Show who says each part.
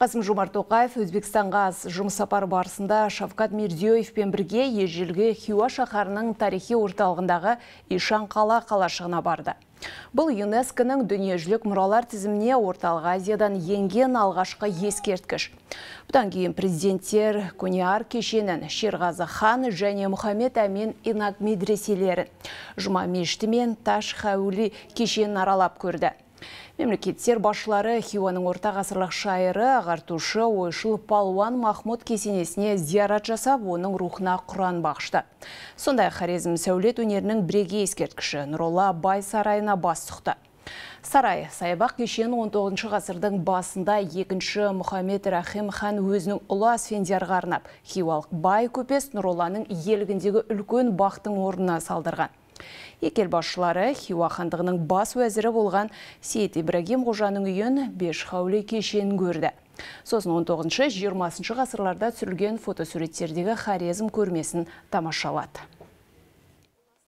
Speaker 1: Қасым-Жомарт Тоқаев Өзбекстанға жұмыс сапары барысында Шавкат Мирзиёевпен бірге ежелгі Хиуа шаһарының тарихи орталығындағы Ишан қала қалашығына барды. Бұл ЮНЕСКО-ның дүниежүзілік мұралар тізіміне Орталық Азиядан енген алғашқы ескерткіш. Бұдан кейін президенттер Көне-Ар кешенін, Шерғазы хан және Мұхаммед Әмин Инак медреселерін, Жұма мешіті мен Таш Хаули кешенін аралап көрді. Мемлекеттер басшылары Хиуаның орта ғасырлық шайыры, ағартушы, ойшыл палуан Махмуд кесенесіне зиярат жасап, оның рухына Құран бағышты. Сондай Хорезм сәулет өнерінің бірегей ескерткіші Нұролла Бай сарайына бас сұқты. Сарай саябақ кешен 19 ғасырдың басында 2-ші Мұхаммед Рахим хан өзінің ұлы Асфендиярға арнап, хиуалық бай көпес Нұролланың елгіндегі үлкен бақтың орнына салдырған. Екі ел басшылары Хиуа хандығының бас уәзірі болған Сейіт Ибрагим Қожаның үйін Беш Хаули кешенін көрді. Сосын 19-20 ғасырларда түсірілген фотосуреттердегі Хорезм көрмесін тамашалады.